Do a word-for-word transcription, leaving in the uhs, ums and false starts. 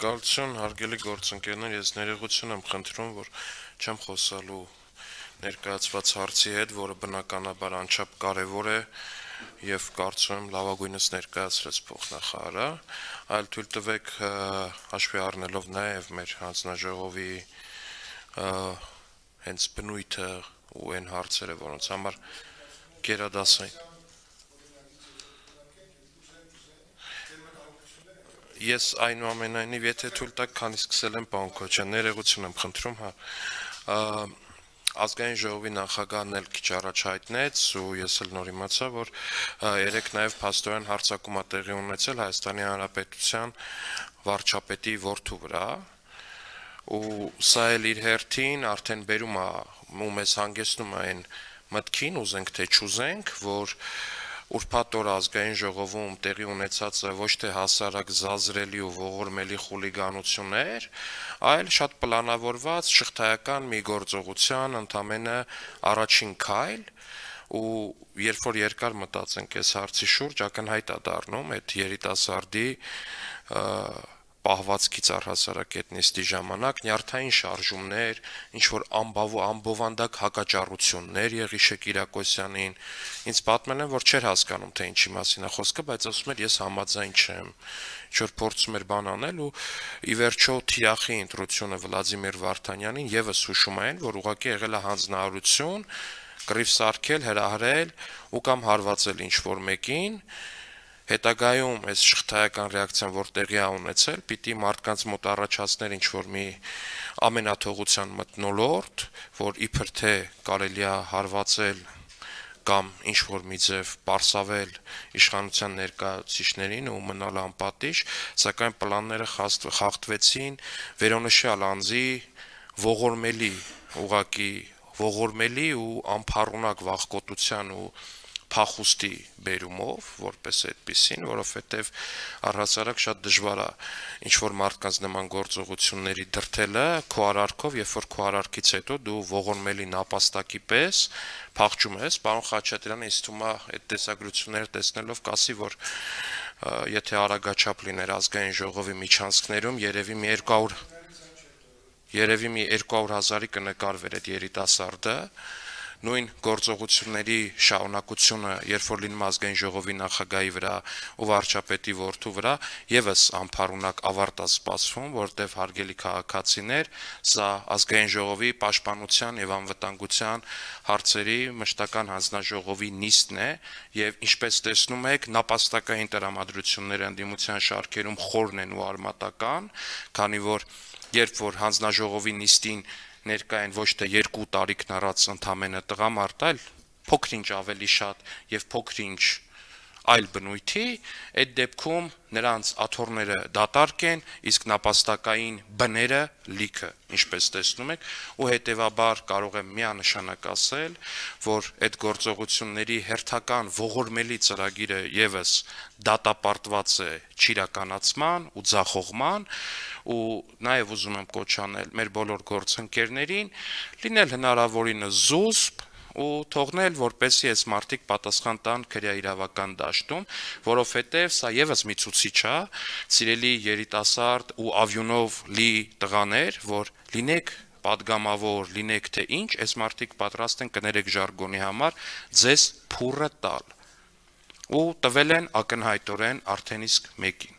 Շնորհակալություն, հարգելի գործընկերներ, ես ներողություն եմ խնդրում, որ չեմ խոսալու ներկայացված հարցի հետ, որը բնականաբար անչափ կարևոր է եւ կարծում եմ լավագույնս ներկայացրեց փոխնախարարը, այլ թույլ տվեք հաշվի առնելով նաեւ մեր հանձնաժողովի հենց բնույթը ու այն հարցերը, որոնց համար գերադասային Ես այնուամենայնիվ, եթե թույլ տաք, քանի սկսել եմ, պարոն Քոչարյան, ներողություն եմ խնդրում, հա, ազգային ժողովի նախագահն էլ քիչ առաջ հայտնեց ու ես էլ նոր իմացա, որ երեք նաև փաստորեն հարձակում է տեղի ունեցել Հայաստանի Հանրապետության վարչապետի որդու վրա, ու սա էլ իր հերթին արդեն բերում է ու մեզ հանգեցնում է այն մտքին, ուզենք թե չուզենք, որ ուրբաթ օր ազգային ժողովում տեղի ունեցածը ոչ թե հասարակ զազրելի ու ողորմելի խուլիգանություններ, այլ շատ պլանավորված շղթայական մի գործողության ընդամենը առաջին քայլ, ու երբ որ երկար մտածենք այս հարցի շուրջ, ակնհայտ է դառնում այդ երիտասարդի պահվածքից առհասարակ այդ նիստի ժամանակ նյարդային շարժումներ, ինչ-որ ամբովանդակ հակաճառություններ Եղիշե Կիրակոսյանին, ինձ պատմել են, որ չէր հասկանում, թե ինչի մասին է խոսքը, բայց ասում էր, ես համաձայն չեմ, ինչ-որ փորձում էր բան անել ու ի վերջո թիրախի ընտրությունը Վլադիմիր Վարդանյանին եւս հուշում են, որ ուղղակի եղել է հանձնարարություն, կռիվ սարքել, հրահրել ու կամ հարվածել ինչ-որ մեկին, հետագայում այս շղթայական ռեակցիան, որ տեղի է ունեցել, պիտի մարդկանց մոտ առաջացներ ինչ-որ մի ամենաթողության մթնոլորտ, որ իբր թե կարելի է հարվածել կամ ինչ-որ մի ձև պարսավել իշխանության ներկայացուցիչներին ու մնալ անպատիժ, սակայն պլանները խախտվեցին վերոնշյալ անձի ողորմելի, ուղղակի ողորմելի ու անփառունակ վախկոտության ու փախուստի բերումով, որպես այդպիսին, որովհետև առհասարակ շատ դժվար է ինչ-որ մարդկանց նման գործողությունների դրդելը քո արարքով, երբ որ քո արարքից հետո դու ողորմելի նապաստակի պես փախչում ես, պարոն Խաչատրյանը ինձ թվում է այդ տեսագրությունները տեսնելով կասի, որ եթե արագաչափ լիներ ազգային ժողովի միջանցքներում, երևի մի երկու հարյուր երևի մի երկու հարյուր հազարի կնկարվեր այդ երիտասարդը, նույն գործողությունների շարունակությունը, երբ որ լինում ազգային ժողովի նախագահի վրա ու վարչապետի որդու վրա, եւս անփառունակ ավարտ է սպասվում, որտեղ հարգելի քաղաքացիներ, սա ազգային ժողովի պաշտպանության եւ անվտանգության հարցերի մշտական հանձնաժողովի նիստն է եւ ինչպես տեսնում եք, նապաստակային տրամադրությունները ընդդիմության շարքերում խորն են ու արմատական, քանի որ երբ որ հանձնաժողովի նիստին ներկա են ոչ թե երկու տարիքն առած ընդամենը տղամարդ, այլ փոքր-ինչ ավելի շատ եւ փոքր-ինչ այլ բնույթի, այդ դեպքում նրանց աթոռները դատարկ են, իսկ նապաստակային բները լիքը, ինչպես տեսնում եք, ու հետեւաբար կարող եմ միանշանակ ասել, որ այդ գործողությունների հերթական ողորմելի ծրագիրը եւս դատապարտված է չիրականացման ու ձախողման, ու նաեւ ուզում եմ կոչ անել մեր բոլոր գործընկերներին լինել հնարավորինս զուսպ ու թողնել, որպեսզի այս մարդիկ պատասխան տան քրեաիրավական դաշտում, որովհետև սա եւս մի ցուցիչ է, սիրելի երիտասարդ ու ավյունով լի տղաներ, որ լինեք պատգամավոր, լինեք թե ինչ, այս մարդիկ պատրաստ են կներեք ժարգոնի համար ձեզ փուռը տալ ու տվել են ակնհայտորեն արդեն իսկ մեկին